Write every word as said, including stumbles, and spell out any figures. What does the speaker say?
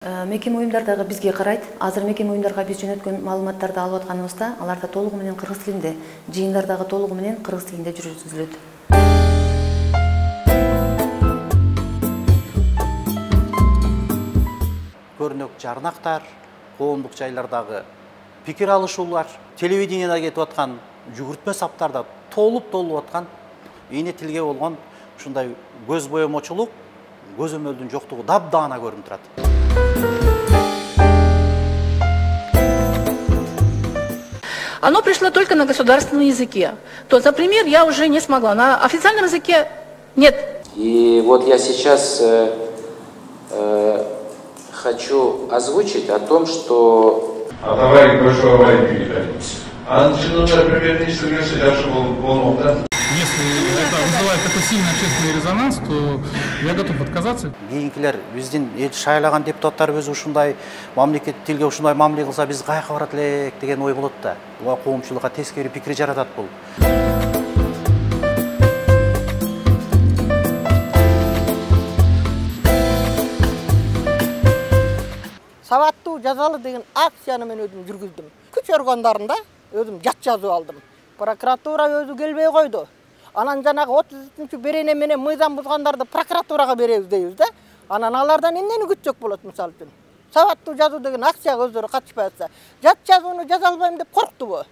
Мекеме уюмдар дагы бизге карайт. Азыр мекеме уюмдарга биз жөнөткөн маалыматтарды алып атканыбызда, аларда толугу менен кыргыз тилинде, жыйындар дагы толугу менен кыргыз тилинде жүргүзүлөт. Көрнөк жарнактар, коомдук жайлардагы пикир алышуулар, телевидениеда кетип аткан жүгүртмө саптарда толуп толуп аткан эне тилге болгон ушундай көз боемочулук, көзөмөлдүн жоктугу дабдаана көрүнүп турат. Оно пришло только на государственном языке. То, например, я уже не смогла. На официальном языке нет. И вот я сейчас э, э, хочу озвучить о том, что... А давай большой аварии переходить. А начинается примерно если был Если это вызывает такой сильный общественный резонанс, то я готов отказаться. Кийинкилер биздин эл шайлаган депутаттарыбыз ушундай мамлекет тилге ушундай мамиле кылса биз каяка барат элек деген ой болот да. Буга коомчулукка тескери пикир жаратат бул. Сабаттуу жазалы деген акцияны мен өзүм жүргүздүм. Күч органдарында өзүм жат жазып алдым. Прокуратура өзү келбей койду. Анан жанагы отуз үчүнчү берене менен мыйзам бузгандарды прокуратурага беребиз дейбиз да. Анан алардан эмнени күтсөк болот мисалы үчүн. Сабаттуу жазуу деген акцияга өздөрү катышпай атса, жат жазууну жаза албайм деп корктубу?